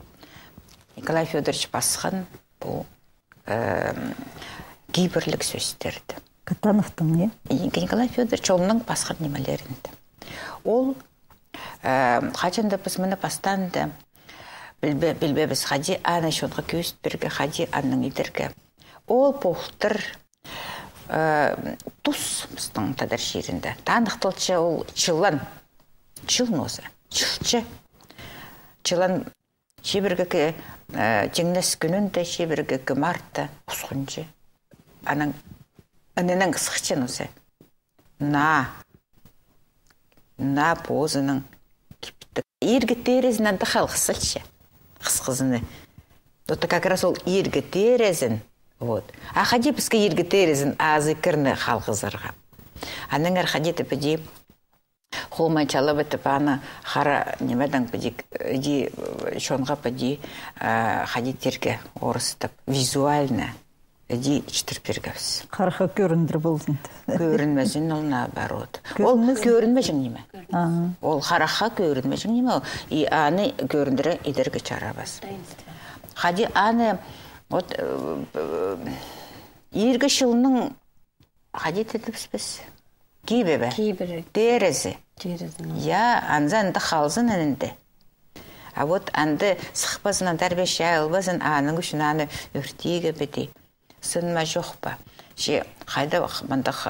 Николай Фёдорович пасхан пу кибірліг сӧстерді. Катановтың, е? Николай Фёдорович олның пасхан нимелерінде. Ол хаҷан даа піс мыны пастаанда пілбе-, пілбеебіс, хайди аны чонға кӧзіт пирерге, хайди аннаң идерге. Ол полтыр тус пістің тадар чирінде. Таныхталча ол чылан. Чыл нооза. Чылча. Чылан чибіргі тиңнес кӱнінде, чибіргі мартта хусхунча. Анаң, аннаң сыхча нооза. Наа. Наа позының киптіг. Иргі терезін анда халғызалча. Хысхызыны. Вот как раз ол иргі терезін. Вот. А хайди піске иргі терезін азы кірні халғызарға. Аннаңар хайди тіп піди хомай чалап тіп аны хара нимедең піди, іди чонға піди, хайди тирге орыстап, визуально. Іди читір пиргебіс. Харахха кӧріндір ползын. Кӧрінмезін ол, наоборот. Ол кӧрінмезін. Кӧрінмеҷең ниме. Ага. Ол харахха кӧрінмеҷең ниме. И аны кӧріндіре идерге чарабас. Таинство. Хайди аны, вот, иргі чылның хайди тидібіс піс. Кибі бе? Кибірі. Терезі. Терезі. Я, анзы анда халзын анда. А вот анда сыхпазын, анда арбес чайылбазын, аның ӱчӱн аны ӧртирге піди. Сынма чох па? Че хайдағ мындағ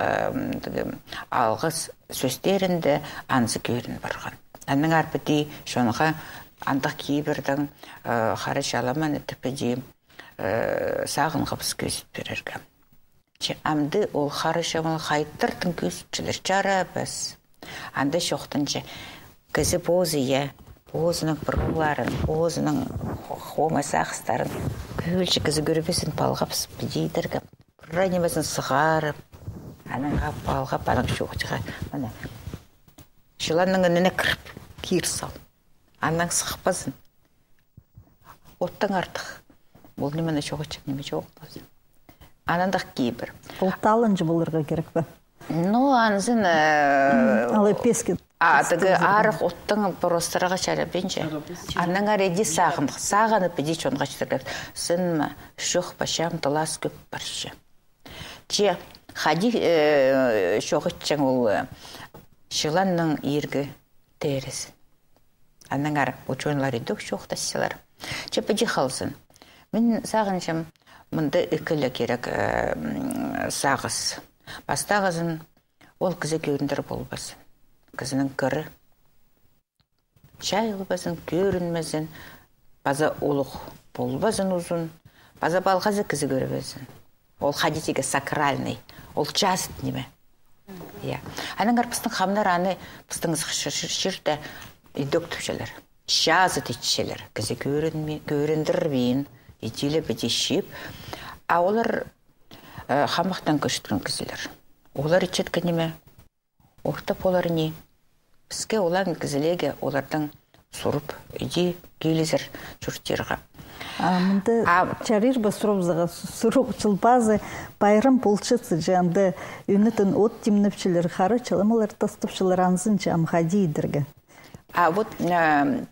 алғыс сӧстерінде анзы кӧрін парған. Аннаңар піди чонға андағ кибірдең хара чаламаны тіп піди сағынғабыс кӧзіт пирерге. Че амды ол хара чаламаны хайдағ-да кӧзітчелер, чарабас. Анда чоохтанча, кізі позы, я, позының пруларын, позының хомай сағыстарын кӧлче кізі кӧрбезін палғабыс піди идерге. Прай нимезін сығарып, анаң палғап, анаң чоохтирға. Мына, чыланның ініне кіріп, кир сал. Анаң сыхпазын. Оттаң артых. Ол нимені чоғынчаң ниме чоғынмазын. Аннаң даа кибір. Ол таланҷы поларға кирек пе? Ну, анзын, э, алай песке А тігі арығ оттың поростарға чарабинча. Анаң ары иди сағын, сағынып иди чонға читіргебіс. Сынма, чох па, чам тылас кӧп парча. Че, хайди, э, чоғытчаң ол, э, чыланның иргі терізін. Анаң ары учёныйлар идӧк чоохтасчалар. Че, піди халзын. Мин сағынчам, мында ікі ле кирек, э, м, сағыс. Пастағызын, ол кізі кӧріндір полбазын. Кізінің кірі чайылбазын, кӧрінмезін, паза улуғ полбазын узун, паза палғазы кізі кӧрбезін. Ол хайди тигі сакральный, ол чазыт ниме. Я. Анаң ары пістің хамнар аны, пістің чир-, чир-, чирде идӧк тіпчелер. Чазыт итчелер. Кізі кӧрінме-, кӧріндірбин, иди ле піди чіп. А олар, э, хамахтаң кӧзіткен кізілер. Олар итчеткен ниме? Орта полар ни. Піске, олаң кізілерге, олардаң сурып, иди килізер чуртирға. А мында чарир ба сурыбызарға, сурығ чыл пазы пайрам полчатса, че анда ӧнетін от тимнепчелер, хара чаламалар тастапчалар, анзын че ам хайди идерге. А вот, э,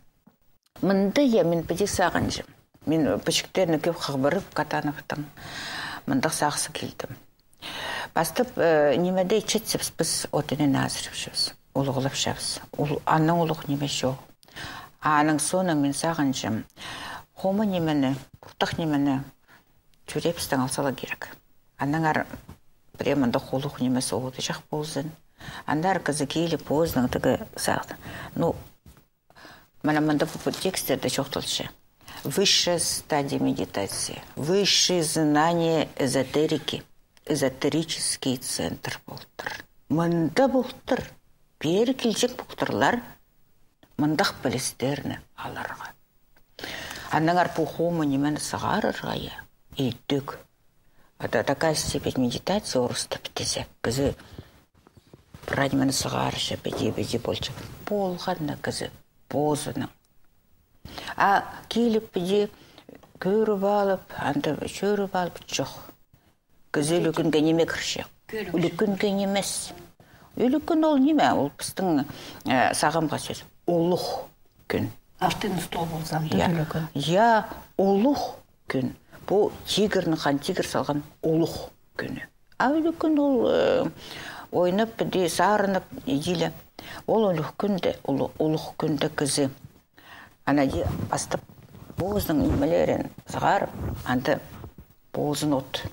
мында, я, мин піди сағынчам. Мин пічіктерні кӧп хығырып, Катановтың, мындағ сағысха килдім. Пастап, э, нимеде итчетсебіс, піс отынаң азырапчабыс, улуғлапчабыс. Ол, аннаң улуғ ниме чох. А аның соонаң мин сағынчам, хомай нимені, пуртах нимені чӱреебістең алза ла кирек. Анаң ары прям мындағ улуғ нимес одырҷых ползын. Андар кізі киліп, позының тігі сағын. Ну, мына мында пу текстерде чоохталча. Высшая стадия медитации, высшие знания эзотерики, эзотерический центр полтыр. Мында полтыр. Пеер килҷең полтырлар мындағ пілістерні аларға. Анаң ары пу хомай нимені сығарарға, я, идӧк. Это такая степень медитации, орыстап тізе. Кізі прай нимені сығарча, піди, піди полча. Полған на кізі позының. А киліп, піди кӧріп алып, анда чӧріп алып, чох. Кізі ӱлӱкӱнге ниме кірче? Ӱлӱкӱнге нимес. Ӱлӱкӱн ол ниме? Ол пістің, э, сағамғы сӧс. Улуғ кӱн. Алтын стол полза, я, ӱлӱкӱн. Я, улуғ кӱн. Пу тигірнің, хан тигір салған улуғ кӱні. А ӱлӱкӱн ол, э, ойнап, піди сарынып, иди ле. Ол улуғ кӱнде, улу-, улуғ кӱнде кізі. Ана иди пастап позының нимелерін сығарып, анда позын от.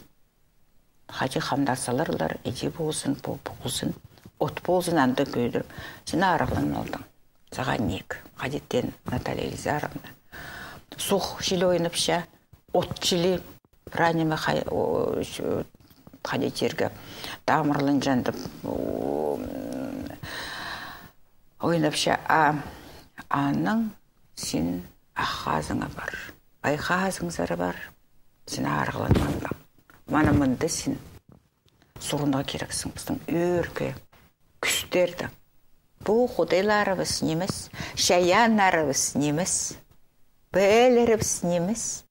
Хайди хамнар саларлар, иди позын, по-, позын. От позын анда кӧдіріп. Син арығлан алдың. Сағаа ниик. Хайди теен, Наталья Елизаровна. Суғ чіли ойнапча, от чіли, прай ниме хай-, о, ч-, хайди тирге, тамырланҷаң тіп, о, м, ойнапча, а анаң син ах хазыңа пар. Пай хазыңзар пар. Син арығланмаң. Мына мында син сурынарға кирексің, пістің ӧӧркі кӱстерді. Пу худайларыбыс нимес, чайааннарыбыс нимес, пээлерібіс нимес,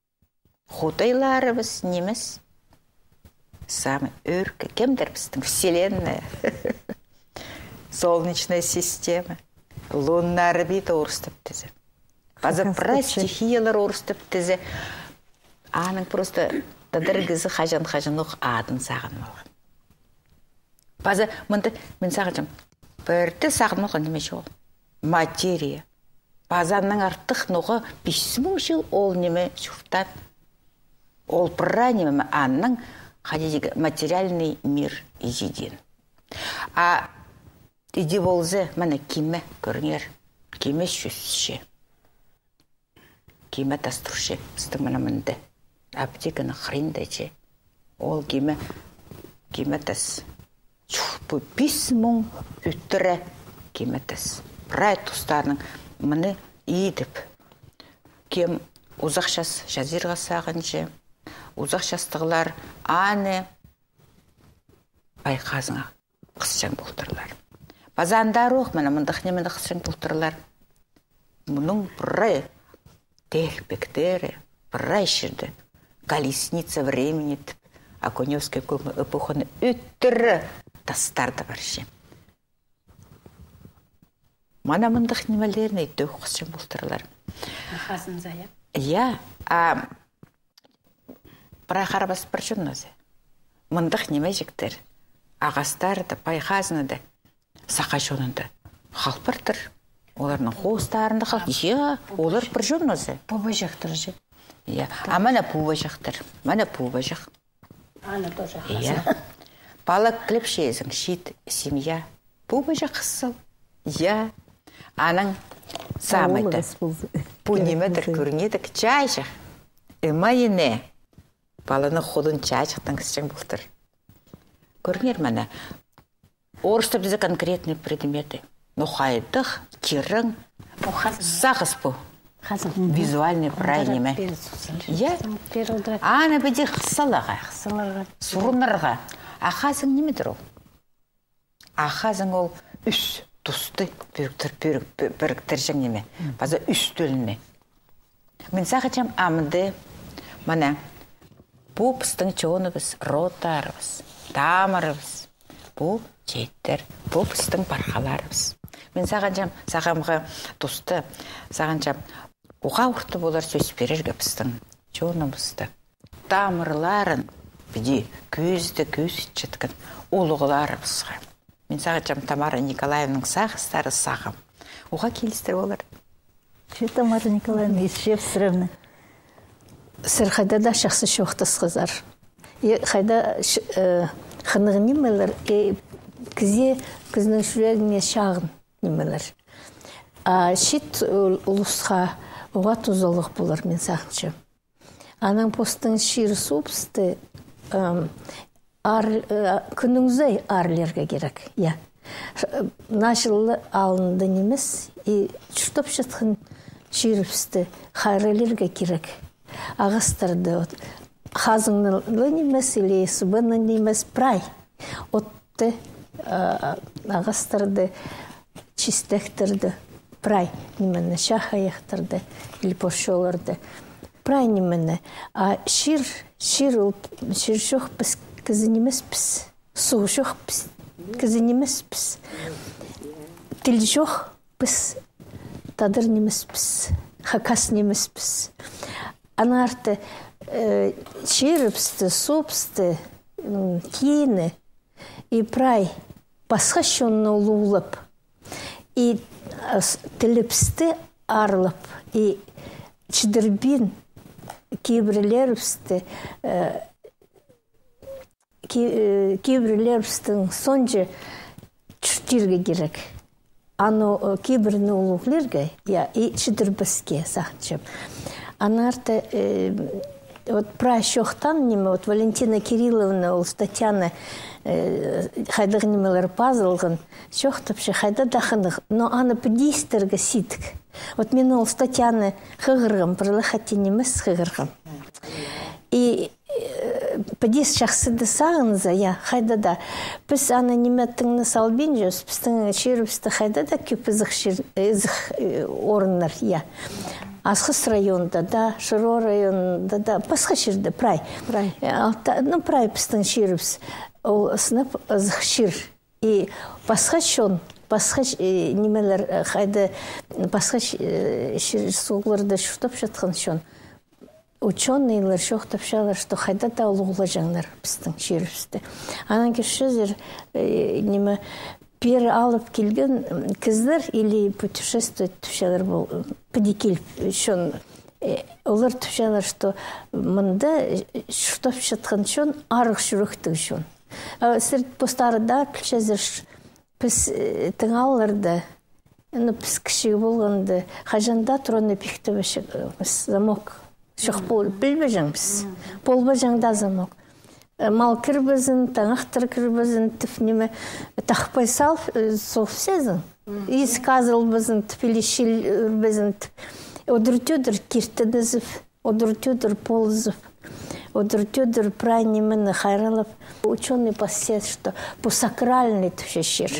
худайларыбыс нимес. Самый ӧӧркі кемдір пістің? Вселенная. Солнечная система. Лунная орбита орыстап тізе. Паза прай стихиялар орыстап тізе. Аның просто тадар кізі хаҷан-хаҷанох адын сағынып алған. Паза мында мин сағынчам, пірдее сағынып алған ниме чоғыл. Материя. Паза аннаң артых ноға пис муң чыл ол ниме чуртаан. Ол прай ниме, аннаң, хайди тирге, материальный мир изидин. А иди полза, мына киме, кӧріңер, киме чӧсче. Киме тас турча, пістің мына мында. Аптеканың хыринда че. Ол киме, киме тас. Чух, пу пис муң ӱттіре киме тас. Прай тустарның мыны идіп. Кем узах час чазирға сағынча, узах частығлар аны пай хазыңа хысчаң полтырлар. Паза андар ох, мына мындағ нимені хысчаң полтырлар. Мының прай тегпектері, прай чирде. Колесница времени тіп, Окуневская эпоханы ӱттіре тастарда парча. Мына мындағ нимелерні тӧӧй хосчаң полтырлар. Хазынза, я? Я, а прай харабас пір чонназы. Мындағ нимеҷектер. Ағастар даа, пай хазна даа. Саха чонында хал партыр. Оларның хоостарында хал. Я, олар пір чонназы. Пу бажахтар же. Я. А мына пу бажахтар. Мына пу бажах. Ана тоже. Я. Пала киліпчезің, чиит семья. Пу бажах хызыл. Я. Анаң самайда. Пу нимедір кӧрінеді, чайчах. Ымайыны. Паланың худын чайчахтаң хызчаң полтыр. Кӧріңер мына. Орыстап тізе конкретные предметы. Ну, хайдағ тирең сағыс пу. Хазың. Визуальный прай ниме. Я? Аны піди хызыларға. Сурынарға. А хазың нимедір ол? А хазың ол ӱс тусты піріктір-, пір-, пір-, піріктірҷең ниме. Паза ӱс тӧлні. Мин сағынчам, амды, мына, пу пістің чоныбыс, родтарыбыс, тамырыбыс, пу чииттер, пу пістің пархаларыбыс. Мин сағынчам, сағамғы туста, сағынчам, уғаа орты полар сӧс пирерге пістің чоныбысты. Тамырларын піди кӧзідерге кӧзітчеткен улуғларыбысха. Мин сағынчам, Тамара Николаевнаның сағыстары сағам. Уғаа килістіре полар. Че, Тамара Николаевна, Исчевстревна. Сірер хайда даа чахсы чоохтасхазар. И хайда, э, хынығ нимелер, и кізі, кізінің чӱрегіне чағын нимелер. А чиит, э, улусха уғаа тузалығ полар, мин сағынчам. Анаң постың чир-суубысты, ам, аар-, э, кӱннің сай аарлирға кирек, я. Ш-, э, наа чыл алнында нимес, и чуртапчатхан чирібісті хайраллирға кирек. Ағастарды, вот, хазыңны ла нимес, или сыбаны нимес, прай. Отты, а, ағастарды, чистектерді, прай нимені, чахайахтарды или порчоларды. Прай нимені. А чир, чир ол, чир чох піс кізі нимеспіс. Суғ чох піс кізі нимеспіс. Тіл чох піс тадар нимеспіс. Хакас нимеспіс. Аннаңар, э, чирібісті, суубысты, м, кині, и прай пасха чонны улуғлап, и, э, с-, тілібісті аарлап, и чідірбин кибірлерібісті, э, ки-, э, кибірлерібістің соонҷа чуртирға кирек. Аны, э, кибірні улуғлирға, я, и чідірбеске, сағынчам. Аннаңар, э, вот прай чоохтаан ниме, вот Валентина Кирилловна, ол статьяны, э, хайдағ нимелер пазылған, чоохтапча, хайда даа хынығ, но аны піди истерге сидік. Вот мин ол статьяны хығырғам, пір ле хати нимес хығырғам. И Э, піди чахсы даа сағынза, я, хайда даа. Піс аны ниме тың на салбинчабыс, пістің чирібісте хайда даа кӧп ызых чир, ызых, э, орыннар, я. Асхыс районда даа, Шыро районда даа, пасха чирде, прай. Прай. Э, алта-, ну, прай пістің чирібіс. Ол сынап ызых чир. И пасха чон, пасха ч-, э, нимелер, э, хайда, пасха ч-, э, чир-суғларда чуртапчатхан чон. Учёныйлар чоохтапчалар, что хайда даа улуғлаҷаңнар пістің чирібісті. Анаң кӧрчезер, э, ниме, пеер алып килген, м, кізілер или путешествовать тіпчелер пол, м, піди киліп, чон, э, олар тіпчелер, что мында, э, чуртапчатхан чон арығ чӱректіг чон. А сірер постарың даа пілчезер, ш-, піс, э, тыңалларда, ну, піс кічіг полғанда, хаҷан даа туранны пиктебеҷеңміс, замок. Чох пол-, пілбеҷеңміс. Полбаҷаң даа замок. Э, мал кірбезін, таңахтар кірбезін, тіп ниме, тахпай сал, э, суғып сизің. Ис казылбазын тіп, или чил ӱрбезін тіп. Одыр-тӧдір киртінізіп. Одыр-тӧдір полызып, одыр-тӧдір прай нимені хайраллап, учёный пасча, что пу сакральный тіпче чир.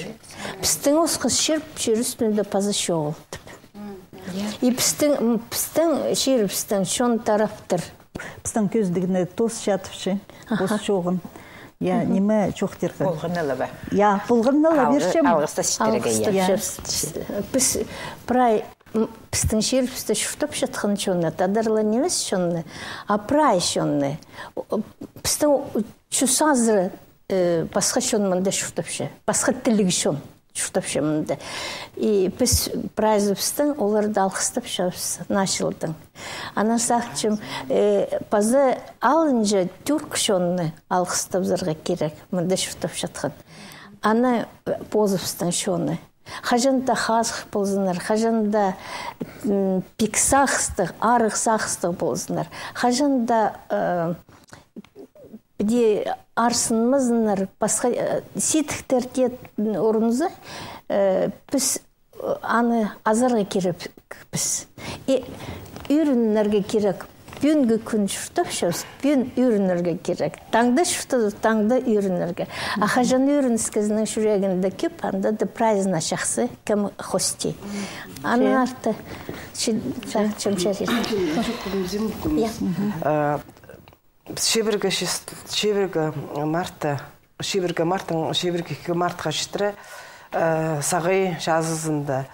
Пістің осхас чир, чир ӱстӱнде паза чоғыл тіп. И пістің, м, пістің чирібістің чон тараптыр. Пістің кӧзідігні тосча тіпче, пос чоғын. Я, ниме чоохтирға. Полғанны ла ба? Я, полғанны ла пирчем. Алғыстап читірерге, я. Алғыстапчабыс. Піс прай, м, пістің чирібісте чуртапчатхан чонны, тадарлар нимес чонны, а прай чонны. О, пістің чӱс азыра, э, пасха чон мында чуртапча, пасха тілліг чон чуртапча мында. И піс прайзыбыстаң оларды алғыстапчабыс наа чылдаң. Анаң сағынчам, э, паза алынҷа тӱрк чонны алғыстазарға кирек, мында чуртапчатхан. Анаң, э, позыбыстың чоны. Хаҷан даа хазых ползыннар, хаҷан даа, м, пик сағыстығ, арығ сағыстығ ползыннар. Хаҷан даа, э, піди арсынмазыннар, пасха, э, сидіктер тее, м, орынза, э, піс, э, аны азарға кирекпіс. И ӱгренерге кирек. Пӱӱнгі кӱн чуртапчабыс, пӱӱн ӱгренерге кирек. Таңда чуртазып, таңда ӱгренерге. А хаҷан ӱгреніске кізінің чӱрегінде кӧп, анда даа прайзына чахсы, кем хости. Анаң арты, чи-, ча-, чем чарир. Я. Э, Чибіргі чис-, чибіргі мартта, чибіргі марттаң, чибіргі ікі мартха читіре, э, Сағай чазызында,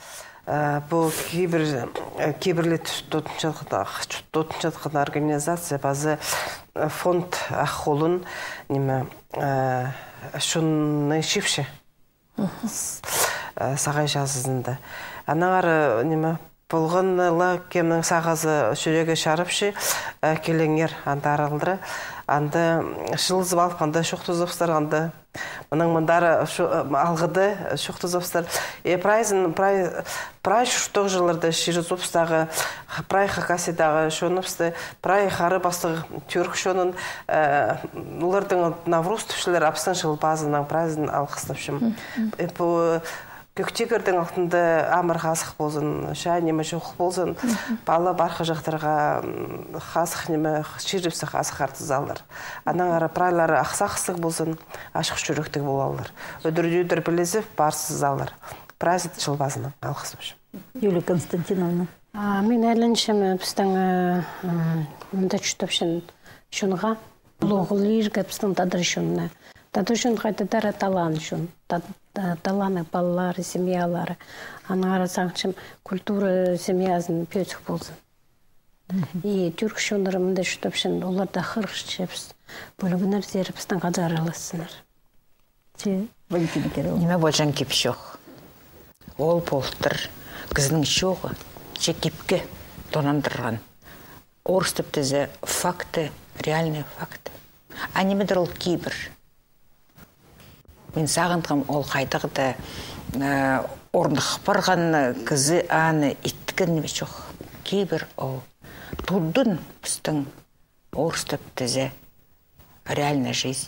э, пу кибір, э, кибірлі тутынчатхан, тутынчатхан организация паза, э, фонд Ах Холын, ниме, э, чонны чыыпча. Э, Сағай чазызында. Аннаңар, э, ниме, полған ла кемнің сағазы чӱрегі чарыпча, э, килеңер анда аралдыра. Анда, м, чыылызып алып, анда чоохтазыбыстар, анда. Мының мындар, э, шу-, э, алғыда, э, чоохтазыбыстар. Э, прайзын, прай, прай чуртағҷыларны чыырызыбыстағы, прай Хакасиядағы чоныбысты, прай хара пастығ тӱрк чонын, э, оларның Навруз тіпчелер, а пістің Чыл пазынаң прайзын алғыстапчам. Э, пу Кӧк тигірдің алтында амыр хазых ползын, чаа ниме чох ползын, пала пархаҷахтарға, м, хазых ниме, чирібісті хазых артызалар. Аннаңар прайлары ах сағыстығ ползын, ачых чӱректіг полалар. Ӱдір-тӧдір пілізіп парзызалар. Прайзын Чыл пазынаң алғыстапчам. Юлия Константиновна. А, мин айланчам, э, пістің, э, э, мында чуртапчатхан чонға, улуғлирға пістің тадар чонына. Тадар чон хайдағ-да талант чон. Та-, та-, таланнығ палалары, семьялары. Аннаңар сағынчам, культура семьязын пӧзік ползын. И тӱрк чоннары мында чуртапчатхан, оларны хығырчабыс. Пӧлігіннер сірер пістең хада аралассыннар. Че, Валентина Кирилловна. Ниме полҷаң кип-чоох. Ол полтыр кізінің чооғы, че кипке тонандырған. Орыстап тізе факты, реальные факты. А нимедір ол кибір. Мин сағынғам, ол хайдағ-да, э, орных парған кізі аны иткен ниме чох. Кибір ол. Тудын пістің орыстап тізе реальная жизнь.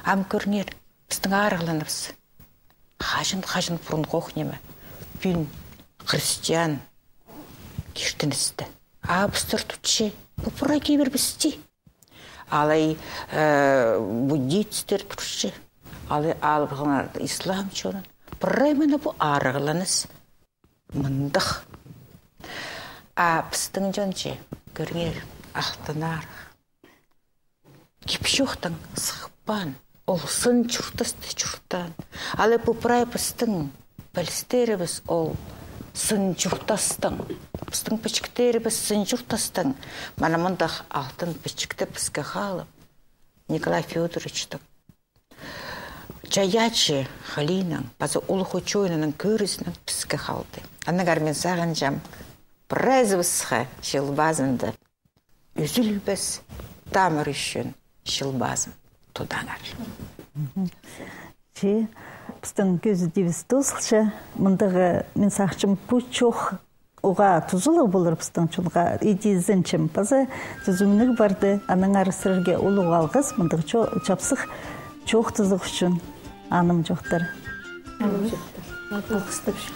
Ам кӧріңер, пістің арығланыбыс. Хаҷан, хаҷан пурунғох ниме. Пӱӱн христиан киртіністі. А пістер тутча, пу прай кибірібісті. Алай, э, буддистер турча. Алай алыбызарға ислам чонын. Прай мына пу арығланыс. Мындағ. А пістің чон че, кӧріңер, алтыннар. Кип-чоохтаң сыхпаан, ол сын чуртасты чуртаан. Алай пу прай пістің пілістерібіс ол сын чуртастаң. Пістің пічіктерібіс сын чуртастаң. Мына мындағ алтын пічікті піске халып, Николай Фёдоровичтің чайаачы халиинаң, паза улуғ учёнайның кӧрізінең піске халды. Аннаңар мин сағынчам, прайзыбысха Чыл пазында ӱзілбес тамыр ӱчӱн Чыл пазын тудаңар. Че, пістің кӧзідібіс тоозылча, мындағ, мин сағынчам, пу чоох уғаа тузалығ полар пістің чонға, иди ізенчем. Паза тӱзімніг парды, аннаңар сірерге улуғ алғыс, мындағ чо-, чапсых чоохтазығ ӱчӱн, аным чоохтар. Алғыстапчам.